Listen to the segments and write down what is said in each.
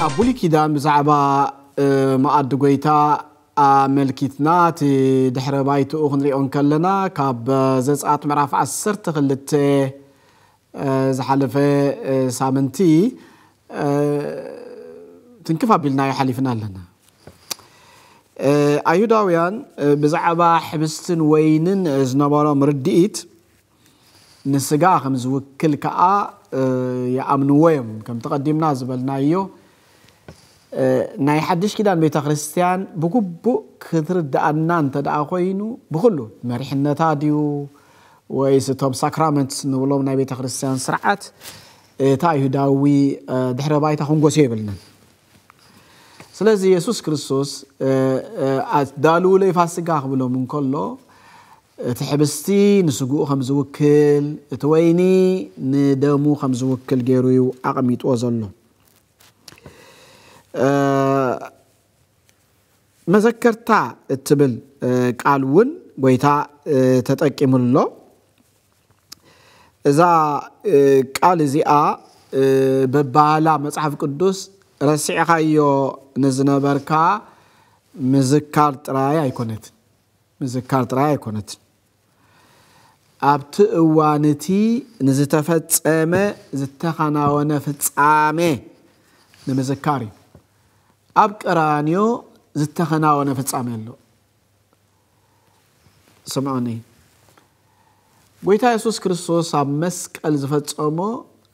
ኣብ ብሉይ ኪዳን ብዛዕባ መኣዲ ጎይታ ኣመልኪትና እቲ ድሕረ ባይትኡ ክንሪኦ እንከለና ካብ ዘጸኣት ምዕራፍ ዓሰርተ ክልተ ዝሓለፈ ሳምንቲ ትንክፍ ኣቢልናዮ ሓሊፍና ኣለና። ኣይሁዳውያን ብዛዕባ ሕብስትን ወይንን ዝነበሮም ርድኢት ንስጋ ከም ዝውክል ከኣ ይኣምንዎ እዮም። ከም ተቐዲምና ዝበልናዮ ናይ ሓድሽ ኪዳን ቤተ ክርስቲያን ብግቡእ ክትርድኣና እንተ ደኣ ኮይኑ ብኹሉ መሪሕነታ ድዩ ወይስ እቶም ሳክራመንት ንብሎም ናይ ቤተ ክርስቲያን ስርዓት እቲ ኣይሁዳዊ ድሕረ ባይታ ክንጎስዮ የብልናን። ስለዚ የሱስ ክርስቶስ ኣዳልውለይ ፋሲጋ ክብሎም እንከሎ እቲ ሕብስቲ ንስግኡ ከም ዝውክል እቲ ወይኒ ንደሙ ከም ዝውክል ገይሩ እዩ ኣቐሚጥዎ ዘሎ። መዘከርታ እትብል ቃል እውን ጎይታ ተጠቂሙሎ። እዛ ቃል እዚኣ በባህላ መጽሓፍ ቅዱስ ረሲዕኻዮ ንዝነበርካ ምዝካር ጥራይ ኣይኮነትን። ምዝካር ጥራይ ኣይኮነትን። ኣብቲ እዋን እቲ ንዝተፈጸመ ዝተኸናወነ ፍጻሜ ንምዝካር እዩ። ኣብ ቀራንዮ ዝተኸናወነ ፍጻሜ ኣሎ። ስምዑኒ፣ ጎይታ የሱስ ክርስቶስ ኣብ መስቀል ዝፈጸሞ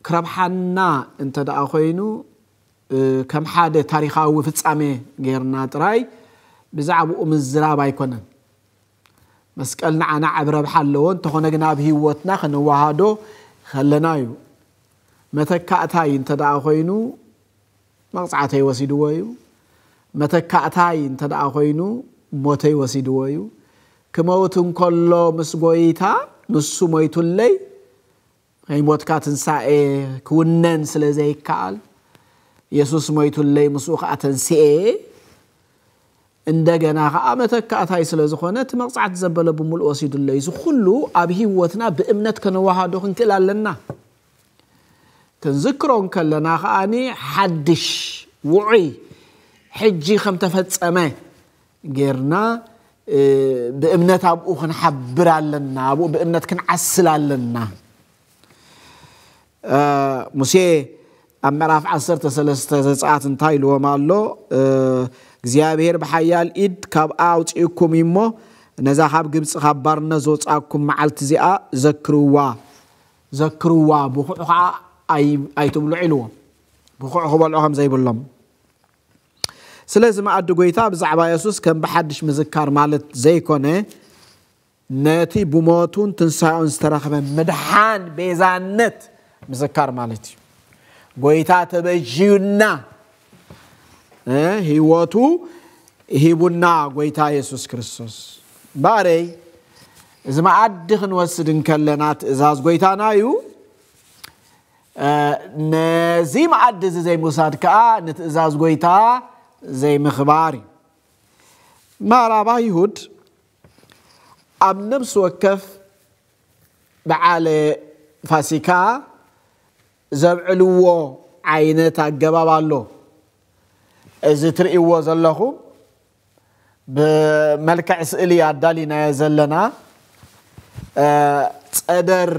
ክረብሓና እንተ ደኣ ኮይኑ ከም ሓደ ታሪኻዊ ፍጻሜ ጌርና ጥራይ ብዛዕባኡ ምዝራብ ኣይኮነን። መስቀል ንዓና ዓብ ረብሓ ኣለዎ፣ እንተኾነ ግን ኣብ ህይወትና ከነወሃዶ ከለና እዩ። መተካእታይ እንተ ደኣ ኮይኑ መቕጻዕተይ ወሲድዎ እዩ። መተካእታይ እንተ ደኣ ኮይኑ ሞተይ ወሲድዎ እዩ። ክመውት እንከሎ ምስ ጎይታ ንሱ ሞይቱለይ፣ ናይ ሞትካ ትንሳኤ ክውነን ስለ ዘይከኣል የሱስ ሞይቱለይ ምስኡ ከኣ ተንስኤ። እንደገና ከኣ መተካእታይ ስለ ዝኾነ እቲ መቕጻዕቲ ዘበለ ብምሉእ ወሲዱለይ። እዚ ኩሉ ኣብ ህይወትና ብእምነት ከነወሃዶ ክንክእል ኣለና። ክንዝክሮ እንከለና ከኣኒ ሓድሽ ውዑይ ሕጂ ከም ተፈጸመ ጌርና ብእምነት ኣብኡ ክንሓብር ኣለና። ኣብኡ ብእምነት ክንዓስል ኣለና። ሙሴ ኣብ ምዕራፍ ዓሰርተ ሰለስተ ዘጸኣት እንታይ ኢልዎም ኣሎ? እግዚኣብሔር ብሓያል ኢድ ካብኣ ኣውጺእኩም እዩ እሞ ነዛ ካብ ግብጺ ካብ ባርነት ዘውጻእኩም መዓልቲ እዚኣ ዘክርዋ። ዘክርዋ፣ ብኹዕ ኸዓ ኣይትብልዑ ኢልዎም። ብኹዕ ክበልዑ ከም ዘይብሎም። ስለዚ መኣዲ ጎይታ ብዛዕባ የሱስ ከም ብሓድሽ ምዝካር ማለት ዘይኮነ፣ ነቲ ብሞቱን ትንሳኤኡን ዝተረኽበ ምድሓን፣ ቤዛነት ምዝካር ማለት እዩ። ጎይታ ተበጅዩና፣ ህይወቱ ሂቡና ጎይታ የሱስ ክርስቶስ። ባረይ፣ እዚ መኣዲ ክንወስድ እንከለና ትእዛዝ ጎይታና እዩ። ነዚ መኣዲ እዚ ዘይምውሳድ ከዓ ንትእዛዝ ጎይታ ዘይምኽባር እዩ። ማራባ ይሁድ ኣብ ነፍሲ ወከፍ በዓል ፋሲካ ዘብዕልዎ ዓይነት ኣገባብ ኣሎ። እዚ ትርእይዎ ዘለኹም ብመልክዕ ስእሊ ኣዳሊናዮ ዘለና ጸደር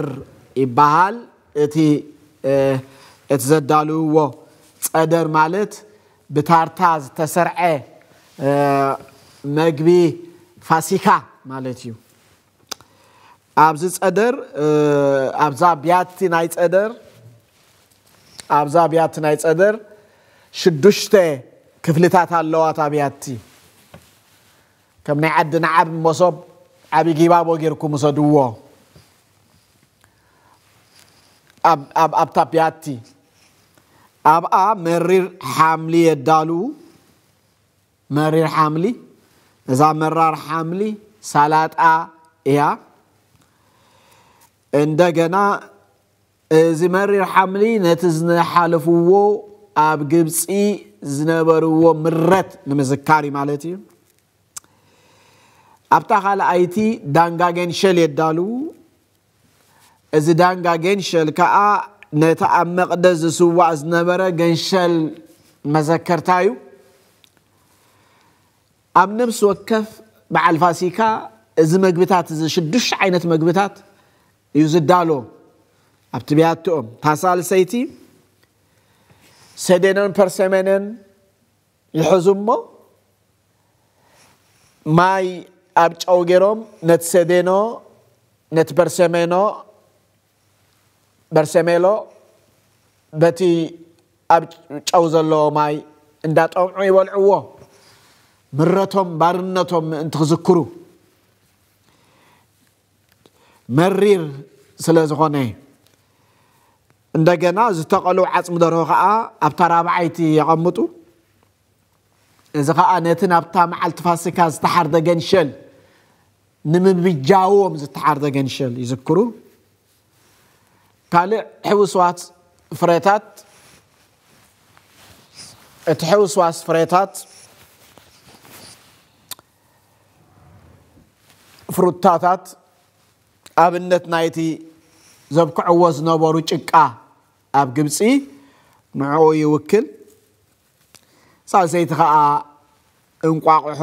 ይበሃል። እቲ እቲ ዘዳልውዎ ጸደር ማለት ብታርታ ዝተሰርዐ መግቢ ፋሲካ ማለት እዩ። ኣብዚ ጸደር ኣብዛ ብያቲ ናይ ጸደር ኣብዛ ብያቲ ናይ ጸደር ሽዱሽተ ክፍልታት ኣለዋ። እታ ብያቲ ከም ናይ ዓድና ዓቢ መሶብ ዓቢ ጊባቦ ጌርኩም ውሰድዎ። ኣብታ ብያቲ ኣብኣ መሪር ሓምሊ የዳሉ። መሪር ሓምሊ፣ እዛ መራር ሓምሊ ሳላጣ እያ። እንደገና እዚ መሪር ሓምሊ ነቲ ዝሓለፍዎ ኣብ ግብፂ ዝነበርዎ ምረት ንምዝካር እዩ ማለት እዩ። ኣብታ ካልኣይቲ ዳንጋ ገንሸል የዳልዉ። እዚ ዳንጋ ገንሸል ከዓ ነቲ ኣብ መቕደስ ዝስዋእ ዝነበረ ገንሸል መዘከርታ እዩ። ኣብ ነፍሲ ወከፍ በዓል ፋሲካ እዚ መግብታት፣ እዚ ሽዱሽተ ዓይነት መግብታት እዩ ዝዳሎ። ኣብቲ ብያትኦም እታ ሳልሰይቲ ሰዴኖን ፐርሰሜኖን ይሕዙ እሞ ማይ ኣብ ጨው ገይሮም ነቲ ሰዴኖ፣ ነቲ በርሰሜኖ፣ በርሰሜሎ በቲ ኣብ ጨው ዘለዎ ማይ እንዳጠምዑ ይበልዕዎ። ምረቶም ባርነቶም ምእንቲ ክዝክሩ መሪር ስለ ዝኾነ። እንደገና ዝተቐሉ ዓጽሚ ደርሆ ከዓ ኣብታ ራብዓይቲ የቐምጡ። እዚ ከዓ ነቲ ናብታ መዓልቲ ፋሲካ ዝተሓርደ ገንሸል ንምብጃዎም ዝተሓርደ ገንሸል ይዝክሩ። ካልእ ሕውስዋስ ፍሬታት፣ እቲ ሕውስዋስ ፍሬታት ፍሩታታት ኣብነት ናይቲ ዘብክዕዎ ዝነበሩ ጭቃ ኣብ ግብፂ ንዕኡ ይውክል። ሳልሰይቲ ከዓ እንቋቑሖ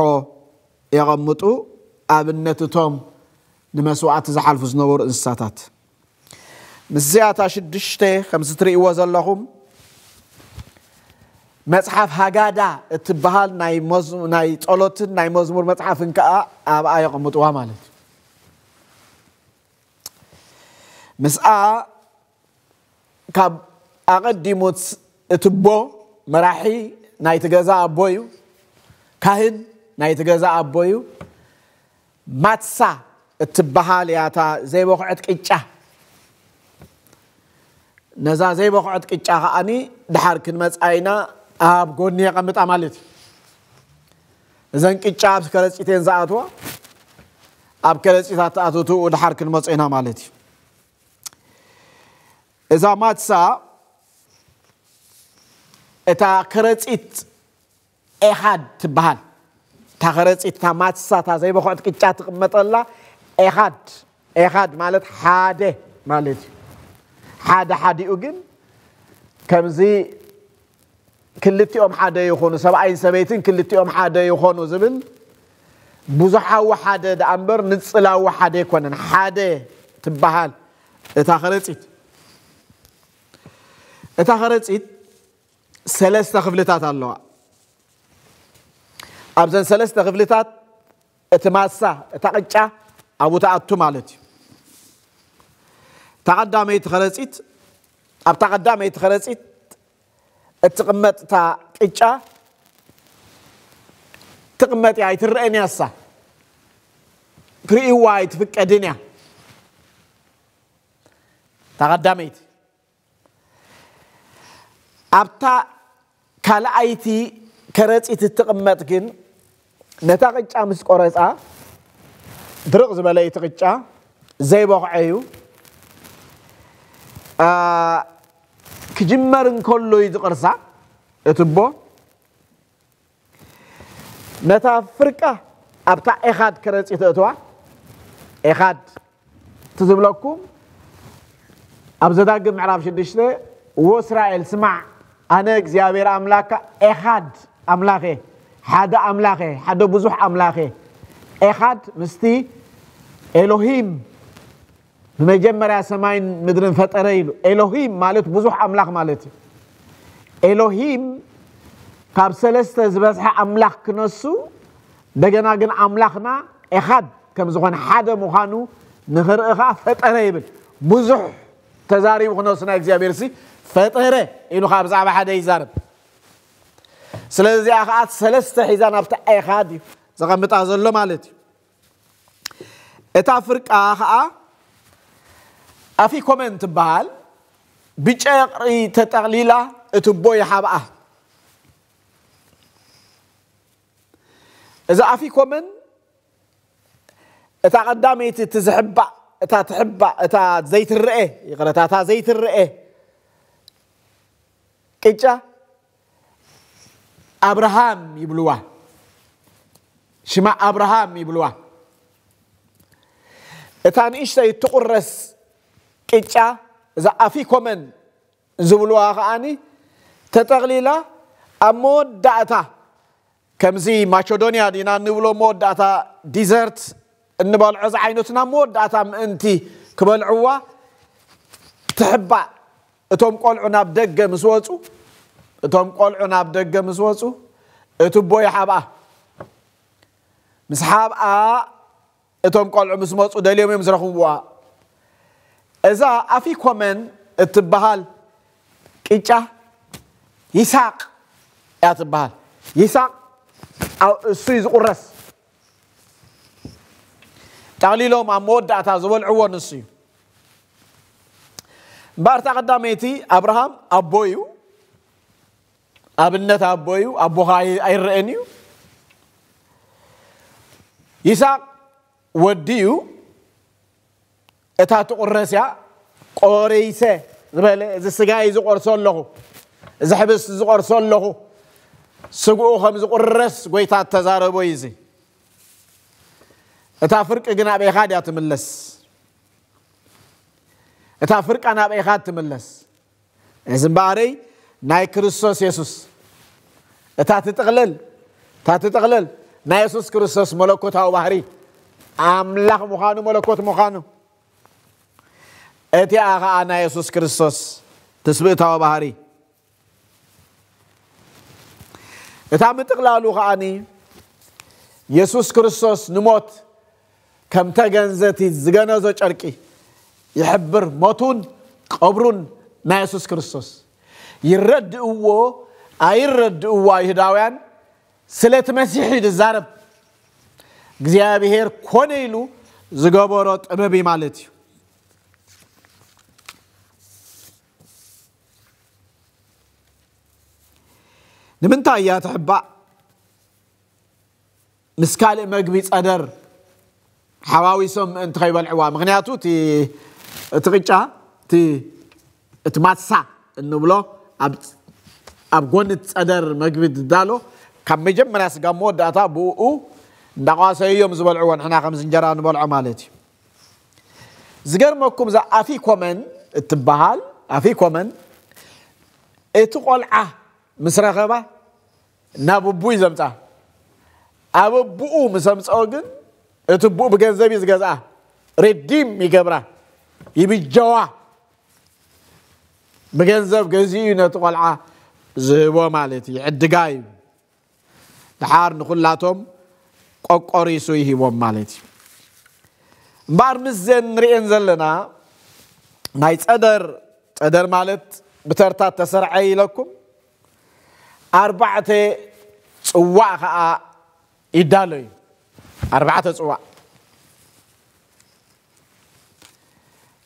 የቐምጡ፣ ኣብነት እቶም ንመስዋእቲ ዝሓልፉ ዝነበሩ እንስሳታት። ምስዚኣታ ሽዱሽተ ከምዚ ትርእይዎ ዘለኹም መጽሓፍ ሃጋዳ እትበሃል ናይ መዝ-፣ ናይ ጸሎትን ናይ መዝሙር መጽሓፍን ከኣ ኣብኣ የቐምጥዋ ማለት እዩ። ምስኣ ካብ ኣቐዲሙ እቲ ኣቦ መራሒ ናይቲ ገዛ ኣቦ እዩ፣ ካህን ናይቲ ገዛ ኣቦ እዩ። ማትሳ እትበሃል እያ እታ ዘይበኹዐት ቅጫ። ነዛ ዘይበኹዐት ቅጫ ከኣኒ ድሓር ክንመጽኣ ኢና ኣብ ጎኒ የቐምጣ ማለት እዩ። እዘን ቅጫ ኣብ ከረጺት እየን ዝኣትዋ፣ ኣብ ከረጺት ኣተኣትትኡ ድሓር ክንመጽኦ ኢና ማለት እዩ። እዛ ማትሳ እታ ከረጺት ኤኻድ ትበሃል። እታ ከረጺት፣ እታ ማትሳ፣ እታ ዘይበኹዕት ቅጫ ትቕመጠላ ኤኻድ። ኤኻድ ማለት ሓደ ማለት እዩ። ሓደ ሓዲኡ ግን ከምዚ ክልቲኦም ሓደ ይኹኑ፣ ሰብኣይን ሰበይትን ክልቲኦም ሓደ ይኾኑ ዝብል ብዙሓዊ ሓደ ደኣ እምበር ንጽላዊ ሓደ ኣይኮነን። ሓደ ትበሃል እታ ከረጺት። እታ ከረጺት ሰለስተ ክፍልታት ኣለዋ። ኣብዘን ሰለስተ ክፍልታት እቲ ማሳ፣ እታ ቅጫ ኣብኡ ትኣቱ ማለት እዩ። እታ ቀዳመይቲ ከረጺት፣ ኣብታ ቀዳመይቲ ከረጺት እትቕመጥ እታ ቅጫ ትቕመጥ እያ፣ ኣይትረአን እያ እሳ። ክርእይዋ ኣይትፍቀድን እያ። እታ ቀዳመይቲ። ኣብታ ካልኣይቲ ከረጺት እትቕመጥ ግን፣ ነታ ቅጫ ምስ ቆረጻ፣ ድርቕ ዝበለ እቲ ቅጫ ዘይበኹዐ እዩ። ኣ፣ ክጅመር እንከሎ እዩ ዝቕርሳ እቲ ኣቦ። ነታ ፍርቃ ኣብታ ኤኻድ ከረጺ ተእትዋ። ኤኻድ ትዝብለኩም ኣብ ዘዳግም ምዕራፍ ሽዱሽተ፣ ወእስራኤል ስማዕ፣ ኣነ እግዚኣብሔር ኣምላካ ኤኻድ ኣምላኽ እየ፣ ሓደ ኣምላኽ እየ፣ ሓደ ብዙሕ ኣምላኽ እየ። ኤኻድ ምስቲ ኤሎሂም ብመጀመርያ ሰማይን ምድርን ፈጠረ ኢሉ። ኤሎሂም ማለት ብዙሕ ኣምላኽ ማለት እዩ። ኤሎሂም ካብ ሰለስተ ዝበዝሐ ኣምላኽ ክነሱ፣ እንደገና ግን ኣምላኽና ኤኻድ ከም ዝኾነ፣ ሓደ ምዃኑ ንኽርኢ ኸዓ ፈጠረ ይብል። ብዙሕ ተዛሪቡ ክነሱ ናይ እግዚኣብሔር ሲ ፈጠረ ኢሉ ኸዓ ብዛዕባ ሓደ ይዛረብ። ስለዚ እዚኣ ኸዓ ሰለስተ ሒዛ ናብቲ ኤኻድ እዩ ዘቐምጣ ዘሎ ማለት እዩ። እታ ፍርቃ ኸዓ ኣፊኮመን ትበሃል፣ ብጨቕሪ ተጠቕሊላ እቲ ኣቦ ይሓብኣ። እዛ ኣፊኮመን እታ ቀዳመይቲ እቲ ዝሕባእ፣ እታ ትሕባእ፣ እታ ዘይትረኤ፣ ይቕረታ፣ እታ ዘይትረኤ ቅጫ ኣብርሃም ይብልዋ። ሽማ ኣብርሃም ይብልዋ። እታ ንእሽተይ ትቑረስ ቅጫ፣ እዛ ኣፊኮመን ዝብልዋ ከዓኒ፣ ተጠቕሊላ ኣብ መወዳእታ፣ ከምዚ ማቸዶንያ ዲና እንብሎ መወዳእታ ዲዘርት እንበልዖ ዝዓይነቱ፣ ናብ መወዳእታ ምእንቲ ክበልዕዋ ትሕባእ። እቶም ቆልዑ ናብ ደገ ምስ ወጹ፣ እቶም ቆልዑ ናብ ደገ ምስ ወጹ፣ እቲ ኣቦ ይሓብኣ። ምስ ሓብኣ፣ እቶም ቆልዑ ምስ መጹ ደልዮም እዮም ዝረኽብዋ። እዛ ኣፊኮመን እትበሃል ቅጫ ይሳቅ እያ ትበሃል። ይሳቅ፣ ኣብ እሱ እዩ ዝቑረስ። ጠቕሊሎም ኣብ መወዳእታ ዝበልዕዎ ንሱ እዩ። እምበኣር እታ ቀዳመይቲ፣ ኣብርሃም ኣቦ እዩ፣ ኣብነት ኣቦ እዩ፣ ኣቦኻ ኣይ-፣ ኣይረአን እዩ። ይስሐቅ ወዲ እዩ። እታ ትቑረስ እያ። ቆሪሰ ዝበለ፣ እዚ ስጋይ ዝቆርሶ ኣለኹ፣ እዚ ሕብስቲ ዝቆርሶ ኣለኹ፣ ስግኡ ከም ዝቑረስ ጎይታ እተዛረቦ እዩ እዚ። እታ ፍርቂ ግን ኣብ ኤኻድ እያ ትምለስ። እታ ፍርቃ ናብ ኤኻድ ትምለስ። እዚ እምበኣረይ ናይ ክርስቶስ የሱስ፣ እታ ትጥቕልል፣ እታ ትጥቕልል ናይ የሱስ ክርስቶስ መለኮታዊ ባህሪ፣ ኣምላኽ ምዃኑ፣ መለኮት ምዃኑ፣ እቲኣ ኸኣ ናይ የሱስ ክርስቶስ ትስብእታዊ ባህሪ። እታ ምጥቕላሉ ኸኣኒ የሱስ ክርስቶስ ንሞት ከም ተገንዘቲ ዝገነዞ ጨርቂ ይሕብር። ሞቱን ቀብሩን ናይ የሱስ ክርስቶስ ይረድእዎ ኣይረድእዎ ኣይሁዳውያን፣ ስለቲ መሲሕ እዩ ዝዛረብ። እግዚኣብሔር ኮነ ኢሉ ዝገበሮ ጥበብ እዩ ማለት እዩ። ንምንታይ እያ ትሕባእ? ምስ ካልእ መግቢ ጸደር ሓዋዊሶም ምእንቲ ከይበልዕዋ። ምኽንያቱ እቲ፣ እቲ ቅጫ፣ እቲ፣ እቲ ማትሳ እንብሎ ኣብ፣ ኣብ ጎኒ እቲ ጸደር መግቢ ዝዳሎ፣ ካብ መጀመርያ ስጋብ መወዳእታ ብኡ እንዳቋሰዩ እዮም ዝበልዕዎ፣ ንሕና ከምዚ እንጀራ ንበልዖ ማለት እዩ። ዝገርመኩም፣ እዛ ኣፊኮመን እትበሃል፣ ኣፊኮመን እቲ ቆልዓ ምስ ረኸባ ናብ ኣቡኡ እዩ ዘምጽኣ። ኣብ ኣቡኡ ምስ ኣምጽኦ ግን እቲ ኣቡኡ ብገንዘብ እዩ ዝገዝኣ። ሪዲም ይገብራ፣ ይብጀዋ። ብገንዘብ ገዚኡ እዩ ነቲ ቆልዓ ዝህቦ ማለት እዩ፣ ይዕድጋ እዩ። ደሓር ንኹላቶም ቆቆሪሱ ይሂቦም ማለት እዩ። እምበኣር ምስ ዘን ንርእየን ዘለና ናይ ጸደር፣ ጸደር ማለት ብተርታ ተሰርዐ ኢለኩም፣ ኣርባዕተ ጽዋዕ ኸኣ ይዳሎ እዩ። ኣርባዕተ ጽዋዕ።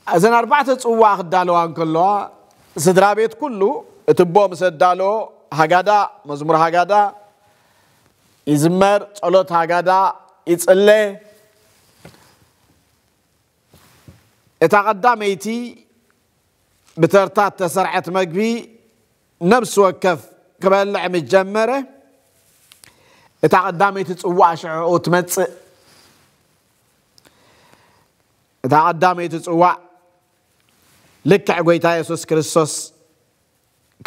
እዘን ኣርባዕተ ጽዋዕ ክዳለዋ እንከለዋ፣ ስድራ ቤት ኩሉ፣ እቲ ኣቦ ምስ ኣዳለዎ፣ ሃጋዳ፣ መዝሙር ሃጋዳ ይዝመር፣ ጸሎት ሃጋዳ ይጽለ። እታ ቀዳመይቲ ብተርታ እተሰርዐት መግቢ ነፍሲ ወከፍ ክበልዕ ምስ ጀመረ፣ እታ ቀዳመይቲ ጽዋእ ሽዑ ትመጽእ። እታ ቀዳመይቲ ጽዋእ ልክዕ ጐይታ የሱስ ክርስቶስ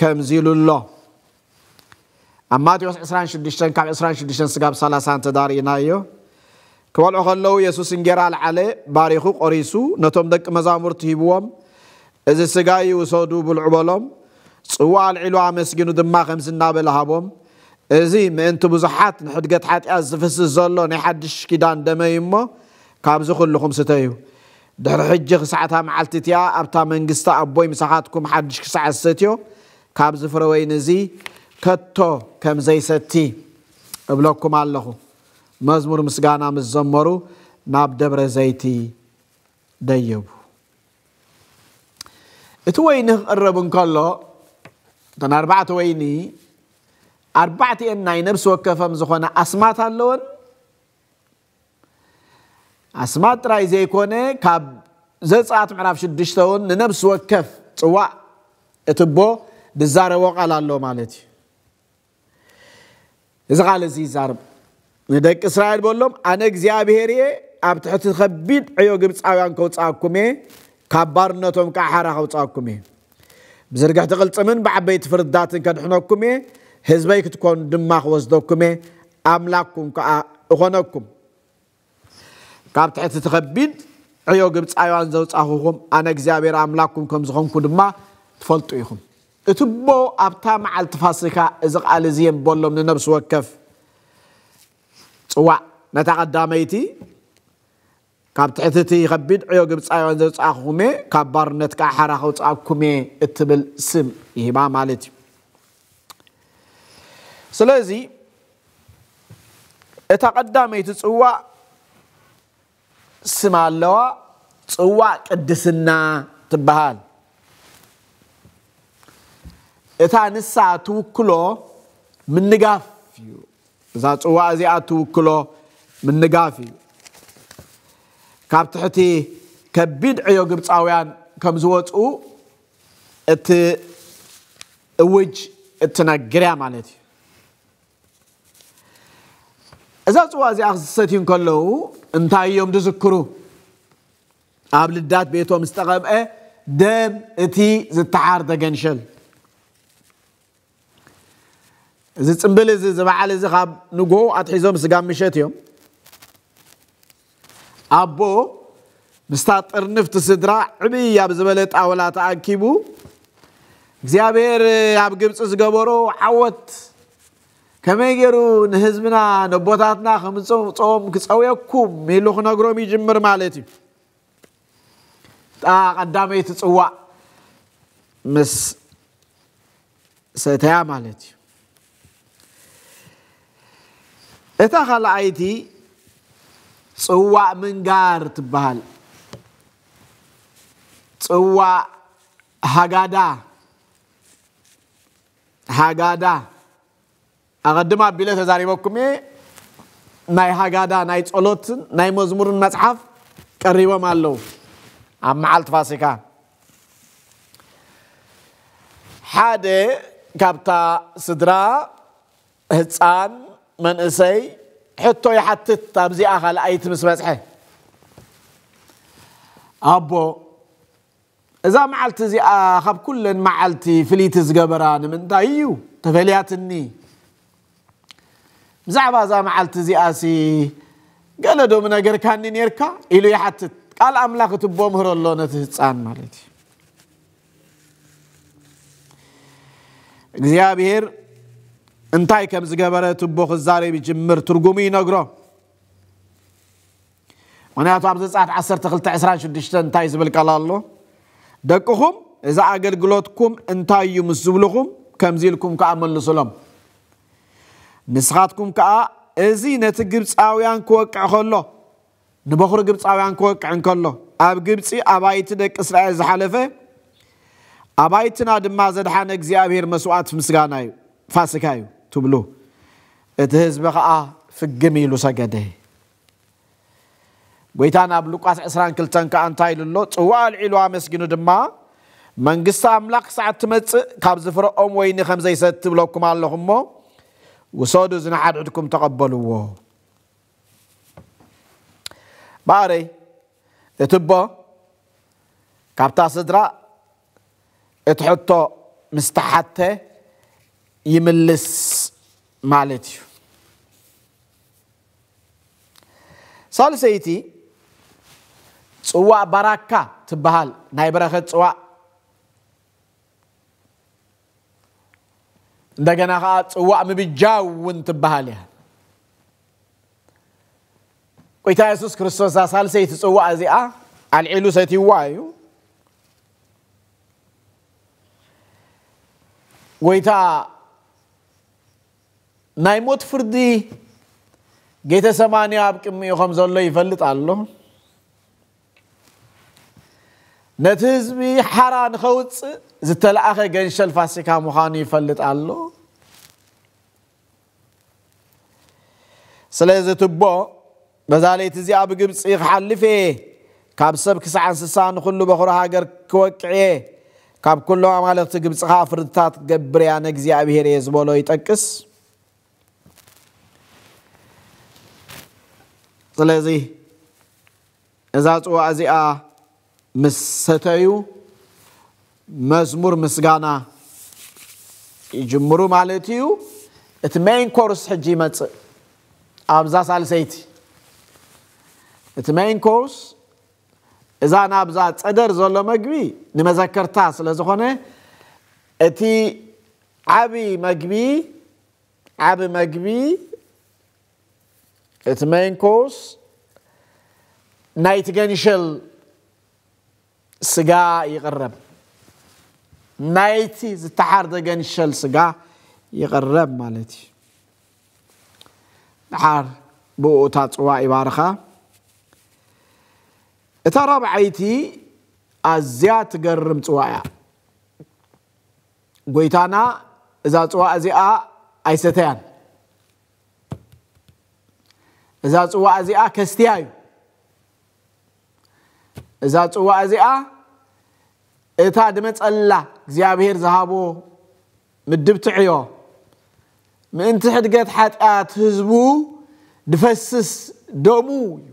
ከምዚ ኢሉ ኣሎ። ኣብ ማቴዎስ ዕስራን ሽዱሽተን ካብ ዕስራን ሽዱሽተን ስጋብ ሰላሳ እንተ ዳርኢናዮ፣ ክበልዑ ከለዉ የሱስ እንጌራ ኣልዓለ፣ ባሪኹ ቆሪሱ ነቶም ደቂ መዛሙርቱ ሂብዎም፣ "እዚ ስጋይ ውሰዱ ብልዑ" በሎም። ጽዋእ ኣልዒሉ ኣመስጊኑ ድማ ከምዚ እናበለ ሃቦም፣ "እዚ ምእንቲ ብዙሓት ንሕድገት ሓጢኣት ዝፍስስ ዘሎ ናይ ሓድሽ ኪዳን ደመይ እሞ ካብዚ ኩልኹም ስተዩ። ድሕሪ ሕጂ ክሳዕታ መዓልቲ እቲኣ ኣብታ መንግስቲ ኣቦይ ምሳኻትኩም ሓድሽ ክሳዕ ዝሰትዮ ካብዚ ፍረ ወይኒ እዚ ከቶ ከም ዘይሰቲ እብለኩም ኣለኹ።" መዝሙር ምስጋና ምስ ዘመሩ ናብ ደብረ ዘይቲ ደየቡ። እቲ ወይኒ ክቕረብ እንከሎ፣ እተን ኣርባዕተ ወይኒ ኣርባዕቲኤን ናይ ነፍሲ ወከፈም ዝኾነ ኣስማት ኣለወን። ኣስማት ጥራይ ዘይኮነ፣ ካብ ዘጸኣት ምዕራፍ ሽዱሽተ እውን ንነፍሲ ወከፍ ጽዋእ እትቦ ዝዛረቦ ቃል ኣሎ ማለት እዩ። እዚ ቃል እዚ ይዛረብ። ንደቂ እስራኤል በሎም፣ "ኣነ እግዚኣብሄር እየ፣ ኣብ ትሕቲ ከቢድ ዕዮ ግብጻውያን ከውጽኣኩም እየ፣ ካብ ባርነቶም ከዓ ሓራ ከውጽኣኩም እየ። ብዝርግሕቲ ቅልጽምን ብዓበይቲ ፍርድታትን ከድሕነኩም እየ፣ ህዝበይ ክትኮኑ ድማ ክወስደኩም እየ፣ ኣምላክኩም ከዓ እኾነኩም። ካብ ትሕቲ እቲ ከቢድ ዕዮ ግብጻውያን ዘውጻኹኹም ኣነ እግዚኣብሔር ኣምላክኩም ከም ዝኾንኩ ድማ ትፈልጡ ኢኹም።" እቲ እቦ ኣብታ መዓልቲ ፋሲካ እዚ ቃል እዚ የንበሎም ንነብሲ ወከፍ ጽዋዕ። ነታ ቀዳመይቲ፣ "ካብ ትሕቲ እቲ ከቢድ ዕዮ ግብጻውያን ዘውጻእኩኹም እየ፣ ካብ ባርነት ከዓ ሓራ ከውጻእኩም እየ" እትብል ስም ይህባ ማለት እዩ። ስለዚ እታ ቀዳመይቲ ጽዋዕ ስም ኣለዋ፣ ጽዋዕ ቅድስና ትበሃል። እታ ንሳ ትውክሎ ምንጋፍ እዩ። እዛ ጽዋዕ እዚኣ ትውክሎ ምንጋፍ እዩ። ካብ ትሕቲ ከቢድ ዕዮ ግብጻውያን ከም ዝወጽኡ እቲ እውጅ እትነግር እያ ማለት እዩ። እዛ ጽዋ እዚኣ ክሰትዩ እንከለዉ እንታይ እዮም ዝዝክሩ? ኣብ ልዳት ቤቶም ዝተቐብአ ደም እቲ ዝተሓርደ ገንሸል። እዚ ጽምብል እዚ፣ እዚ በዓል እዚ ካብ ንግሆ ኣትሒዞም ስጋብ ምሸት እዮም። ኣቦ ምስታ ጥርንፍቲ ስድራ ዕብይ ኣብ ዝበለ ጣውላ ተኣኪቡ፣ እግዚኣብሔር ኣብ ግብጺ ዝገበሮ ዓወት ከመይ ገይሩ ንህዝብና ነቦታትና ከምጽኦም ክጸውየኩም ኢሉ ክነግሮም ይጅምር ማለት እዩ። እታ ቀዳመይቲ ጽዋዕ ምስ ሰተያ ማለት እዩ። እታ ካልኣይቲ ጽዋዕ ምንጋር ትበሃል። ጽዋዕ ሃጋዳ፣ ሃጋዳ ኣቐድም ኣቢለ ተዛሪበኩም እየ። ናይ ሃጋዳ፣ ናይ ጸሎትን ናይ መዝሙርን መጽሓፍ ቀሪቦም ኣለዉ። ኣብ መዓልቲ ፋሲካ ሓደ ካብታ ስድራ፣ ህጻን መንእሰይ፣ ሕቶ ይሓትት። ኣብዚኣ ካልኣይቲ ምስ በጽሐ፣ ኣቦ፣ እዛ መዓልቲ እዚኣ ካብ ኩለን መዓልቲ ፍልይቲ ዝገበራ ንምንታይ እዩ? ተፈልያትኒ። ብዛዕባ እዛ መዓልቲ እዚኣሲ ገለ ዶ ምነገርካኒ ኔርካ? ኢሉ ይሓትት። ቃል ኣምላኽ እቲ ኣቦ ምህሮ ኣሎ ነቲ ህጻን ማለት እዩ። እግዚኣብሔር እንታይ ከም ዝገበረ እቲ ኣቦ ክዛረብ ይጅምር፣ ትርጉሙ ይነግሮ። ምኽንያቱ ኣብ ዘጸኣት ዓሰርተ ክልተ ዕስራን ሽዱሽተን እንታይ ዝብል ቃል ኣሎ? "ደቅኹም እዚ ኣገልግሎትኩም እንታይ እዩ ምስ ዝብልኹም፣ ከምዚ ኢልኩም ከኣ መልሱሎም። ንስኻትኩም ከኣ እዚ ነቲ ግብጻውያን ክወቅዕ ከሎ፣ ንበኹሪ ግብጻውያን ክወቅዕ እንከሎ፣ ኣብ ግብጺ ኣባይቲ ደቂ እስራኤል ዝሓለፈ፣ ኣባይትና ድማ ዘድሓነ እግዚኣብሔር መስዋእቲ ምስጋና እዩ፣ ፋሲካ እዩ" ትብሉ። እቲ ህዝቢ ከኣ ፍግም ኢሉ ሰገደ። ጎይታና ኣብ ሉቃስ ዕስራን ክልተን ከኣ እንታይ ኢሉ ኣሎ? ጽዋእ ኣልዒሉ ኣመስጊኑ ድማ መንግስቲ ኣምላኽ ክሳዕ እትመጽእ ካብዚ ፍረኦም ወይኒ ከም ዘይሰቲ እብለኩም ኣለኹ እሞ፣ ውሰዱ፣ እዚ ንሓድሕድኩም ተቐበልዎ። ባዕረይ፣ እቲ ኣቦ ካብታ ስድራ እቲ ሕቶ ምስ ተሓተ ይምልስ ማለት እዩ። ሳልሰይቲ ጽዋእ ባራካ ትበሃል ናይ በረኸት ጽዋእ፣ እንደገና ከዓ ጽዋእ ምብጃው እውን ትበሃል እያ። ጎይታ የሱስ ክርስቶስ እዛ ሳልሰይቲ ጽዋእ እዚኣ ኣልዒሉ ሰትይዋ እዩ። ጎይታ ናይ ሞት ፍርዲ ጌተሰማኒ ኣብ ቅድሚኡ ከም ዘሎ ይፈልጥ ኣሎ። ነቲ ህዝቢ ሓራ ንኸውፅእ ዝተለኣኸ ገንሸል ፋሲካ ምዃኑ ይፈልጥ ኣሎ። ስለዚ እቲ ኣቦ በዛ ለይቲ እዚኣ ብግብፂ ክሓልፍ እየ፣ ካብ ሰብ ክሳዕ እንስሳ ንኹሉ በኹሪ ሃገር ክወቅዕ እየ፣ ካብ ኩሎም ኣማልኽቲ ግብፂ ኸዓ ፍርድታት ክገብር እየ፣ ኣነ እግዚኣብሄር እየ ዝበሎ ይጠቅስ። ስለዚ እዛ ጽዋእ እዚኣ ምስ ሰተዩ መዝሙር ምስጋና ይጅምሩ ማለት እዩ። እቲ ሜይን ኮርስ ሕጂ ይመጽእ። ኣብዛ ሳልሰይቲ እቲ ሜይን ኮርስ እዛ ናብዛ ጸደር ዘሎ መግቢ ንመዘከርታ ስለ ዝኾነ እቲ ዓቢ መግቢ ዓቢ መግቢ እቲ ሜይን ኮርስ ናይቲ ገንሸል ስጋ ይቕረብ፣ ናይቲ ዝተሓርደ ገንሸል ስጋ ይቕረብ ማለት እዩ። ድሓር ብኡ እታ ጽዋ ይባርኻ። እታ ራብዓይቲ ኣዝያ ትገርም ጽዋ እያ። ጎይታና እዛ ጽዋ እዚኣ ኣይሰተያን። እዛ ጽዋ እዚኣ ከስትያ እዩ። እዛ ጽዋ እዚኣ እታ ድመጸላ እግዚኣብሔር ዝሃቦ ምድብቲ ዕዮ ምእንቲ ሕድገት ሓጢኣት ህዝቡ ድፈስስ ደሙ እዩ።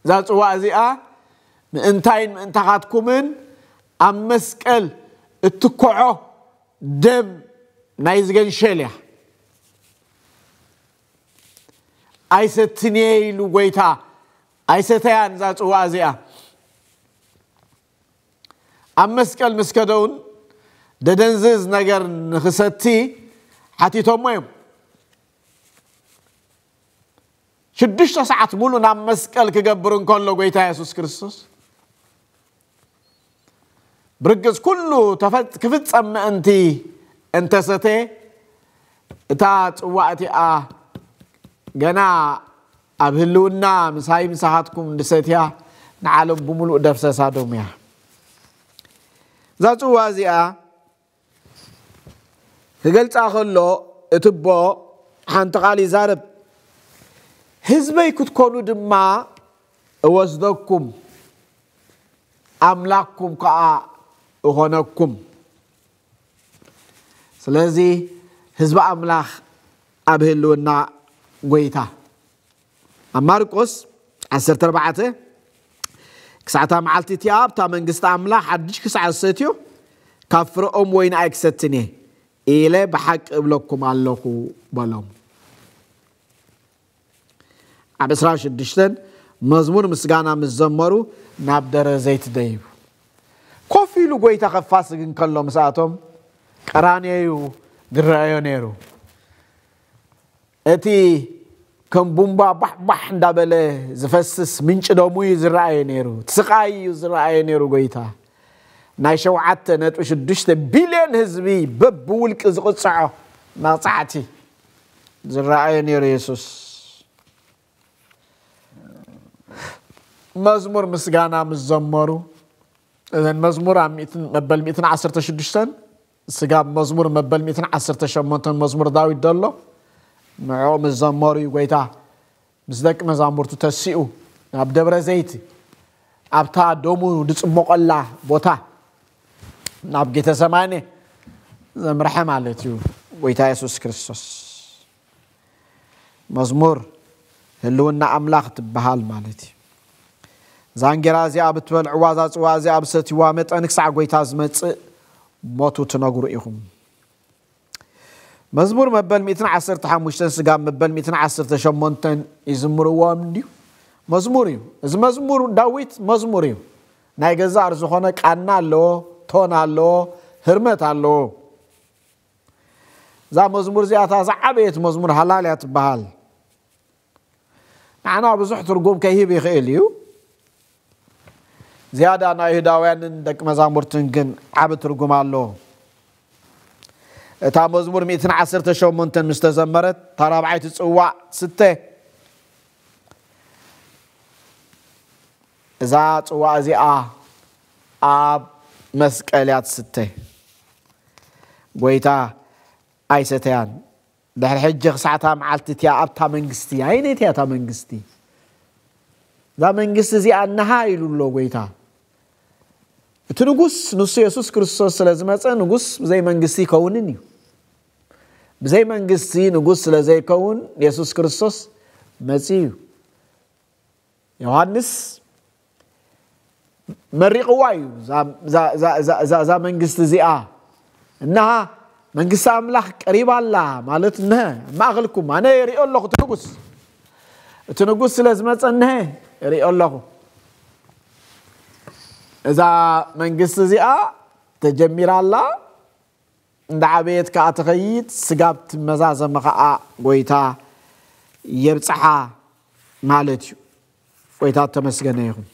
እዛ ጽዋ እዚኣ ምእንታይን ምእንታኻትኩምን ኣብ መስቀል እትኮዖ ደም ናይ ዝገንሸል እያ። ኣይሰትንየ ኢሉ ጎይታ ኣይሰተያን እዛ ጽዋ እዚኣ። ኣብ መስቀል ምስ ከደውን ደደንዝዝ ነገር ንኽሰቲ ሓቲቶሞ እዮም። ሽዱሽተ ሰዓት ሙሉ ናብ መስቀል ክገብር እንከሎ ጎይታ የሱስ ክርስቶስ ብርግጽ ኩሉ ተፈጽ- ክፍጸም ምእንቲ እንተሰተ እታ ጽዋ እቲኣ ገና ኣብ ህልውና ምሳይ ምሳኻትኩም እንድሰትያ ንዓለም ብምሉእ ደፍሰሳ ዶም እያ። እዛ ጽዋ እዚኣ ክገልጻ ከሎ እቲ ኣቦ ሓንቲ ቃል ይዛረብ። ህዝበይ ክትኮኑ ድማ እወስደኩም ኣምላኽኩም ከዓ እኾነኩም። ስለዚ ህዝቢ ኣምላኽ ኣብ ህልውና ጎይታ ኣብ ማርቆስ ዓሰርተ ኣርባዕተ ክሳዕታ መዓልቲ እቲኣ ኣብታ መንግስቲ ኣምላኽ ሓድሽ ክሳዕ ዝሰትዮ ካብ ፍረኦም ወይኒ ኣይክሰትን እየ ኢለ ብሓቂ እብለኩም ኣለኹ በሎም። ኣብ ዕስራን ሽዱሽተን መዝሙር ምስጋና ምስ ዘመሩ ናብ ደብረ ዘይት ደይቡ። ኮፍ ኢሉ ጎይታ ከፋስግ እንከሎ ምስኣቶም ቀራንዮ እዩ ዝረኣዮ ነይሩ። እቲ ከም ቡምባ ባሕባሕ እንዳበለ ዝፈስስ ምንጪ ደሙ እዩ ዝረኣየ ነይሩ። እቲ ስቓይ እዩ ዝረኣየ ነይሩ ጎይታ። ናይ ሸውዓተ ነጥቢ ሽዱሽተ ቢልዮን ህዝቢ በብውልቂ ዝቕጽዖ መቕጻዕቲ ዝረኣየ ነይሩ የሱስ። መዝሙር ምስጋና ምስ ዘመሩ እዘን መዝሙር ኣብ ሚእትን መበል ሚእትን ዓሰርተ ሽዱሽተን ስጋብ መዝሙር መበል ሚእትን ዓሰርተ ሸሞንተን መዝሙር ዳዊት ዘሎ ንዕኡ ምስ ዘመሩ እዩ ጎይታ ምስ ደቂ መዛሙርቱ ተሲኡ ናብ ደብረ ዘይት ኣብታ ደሙ ዝጽሞቐላ ቦታ ናብ ጌተሰማኔ ዘምርሐ ማለት እዩ ጎይታ የሱስ ክርስቶስ። መዝሙር ህልውና ኣምላኽ ትበሃል ማለት እዩ። ዛንጌራ እዚኣ ብትበልዕዋ፣ እዛ ጽዋ እዚኣ ብሰትይዋ መጠን ክሳዕ ጎይታ ዝመጽእ ሞቱ ትነግሩ ኢኹም። መዝሙር መበል ሚእትን ዓሰርተ ሓሙሽተን ስጋብ መበል ሚእትን ዓሰርተ ሸሞንተን ይዝምርዎም እንድዩ። መዝሙር እዩ። እዚ መዝሙር ዳዊት መዝሙር እዩ። ናይ ገዛእ ዝኾነ ቃና ኣለዎ፣ ቶን ኣለዎ፣ ህርመት ኣለዎ። እዛ መዝሙር እዚኣታ ዝዓበየት መዝሙር ሃላልያ ትበሃል። ንዓና ብዙሕ ትርጉም ከይህብ ይኽእል እዩ። ዝያዳ ናይ ይሁዳውያንን ደቂ መዛሙርትን ግን ዓቢ ትርጉም ኣለዎ። እታ መዝሙር ሚእትን ዓሰርተ ሸሞንተን ምስ ተዘመረት፣ እታ ራብዓይቲ ጽዋዕ ስተ። እዛ ጽዋዕ እዚኣ ኣብ መስቀል እያ ትስተ። ጎይታ ኣይሰተያን። ድሕሪ ሕጂ ክሳዕታ መዓልቲ እቲኣ ኣብታ መንግስቲ፣ ኣይነይ እቲኣ እታ መንግስቲ? እዛ መንግስቲ እዚኣ እንሃ ኢሉ ኣሎ ጎይታ። እቲ ንጉስ ንሱ የሱስ ክርስቶስ ስለ ዝመጸ፣ ንጉስ ብዘይ መንግስቲ ይከውንን እዩ። ብዘይ መንግስቲ ንጉስ ስለ ዘይከውን፣ የሱስ ክርስቶስ መጺኡ እዩ። ዮሃንስ መሪቕዋ እዩ። እዛ- እዛ- እዛ- እዛ- እዛ- እዛ መንግስቲ እዚኣ፣ እንሃ መንግስቲ ኣምላኽ ቀሪባ ኣላ ማለት፣ እንሀ ኣብ ማእኸልኩም፣ ኣነ ይሪኦ ኣለኹ እቲ ንጉስ፣ እቲ ንጉስ ስለ ዝመፀ፣ እንሀ ይሪኦ ኣለኹ። እዛ መንግስቲ እዚኣ ተጀሚራ ኣላ። እንዳ ዓበየት ከኣ ትኸይድ፣ ስጋብ ትመዛዘመ ከኣ ጎይታ የብጽሓ ማለት እዩ። ጎይታ ተመስገነ ይኹን።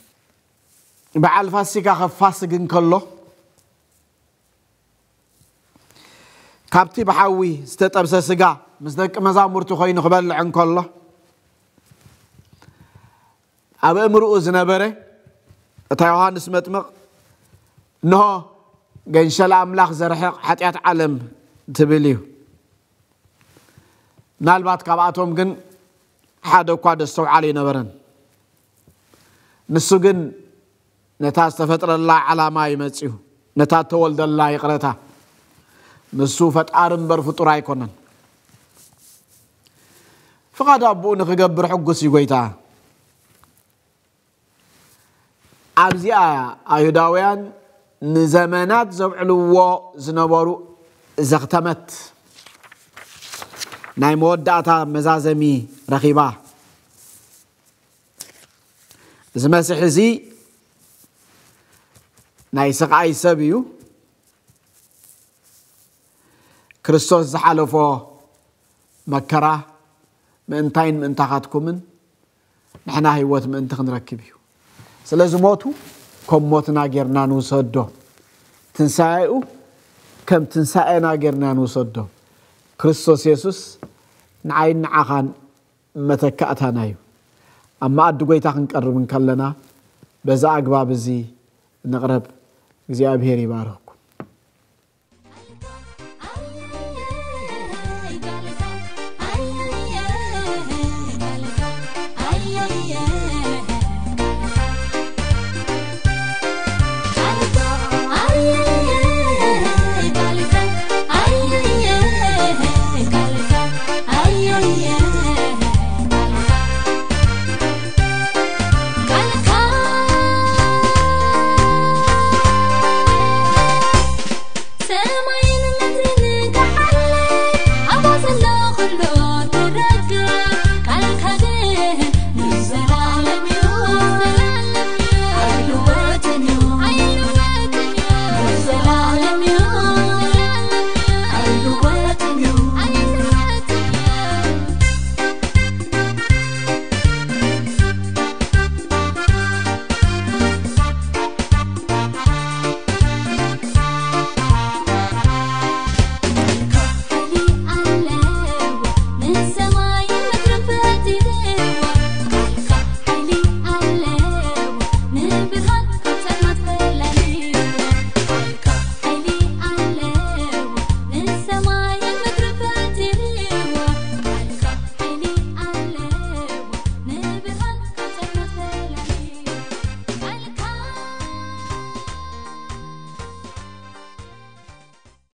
በዓል ፋሲካ ከፋስግ እንከሎ፣ ካብቲ ብሓዊ ዝተጠብሰ ስጋ ምስ ደቂ መዛሙርቱ ኮይኑ ክበልዕ እንከሎ፣ ኣብ እምርኡ ዝነበረ እታ ዮሃንስ መጥምቕ፣ እንሆ ገንሸል ኣምላኽ ዘርሕቕ ሓጢኣት ዓለም ትብል እዩ። ምናልባት ካብኣቶም ግን ሓደ እኳ ደስተውዓለ ኣይነበረን። ንሱ ግን ነታ ዝተፈጥረላ ዓላማ እዩ መጺኡ፣ ነታ እተወልደላ ይቕረታ። ንሱ ፈጣሪ እምበር ፍጡር ኣይኮነን። ፍቓድ ኣቦኡ ንኽገብር ሕጉስ እዩ ጎይታ። ኣብዚኣ ኣይሁዳውያን ንዘመናት ዘብዕልዎ ዝነበሩ ዘኽተመት ናይ መወዳእታ መዛዘሚ ረኺባ። እዚ መሲሕ እዚ ናይ ስቓይ ሰብ እዩ። ክርስቶስ ዝሓለፎ መከራ ምእንታይን ምእንታኻትኩምን ንሕና ህይወት ምእንቲ ክንረክብ እዩ። ስለዚ ሞቱ ከም ሞትና ጌርና ንውሰዶ፣ ትንሳኤኡ ከም ትንሳኤና ጌርና ንውሰዶ። ክርስቶስ የሱስ ንዓይን ንዓኻን መተካእታና እዩ። ኣብ መኣዲ ጎይታ ክንቀርብ እንከለና በዛ ኣግባብ እዚ ንቕረብ። እግዚኣብሔር ይባርኽኩም።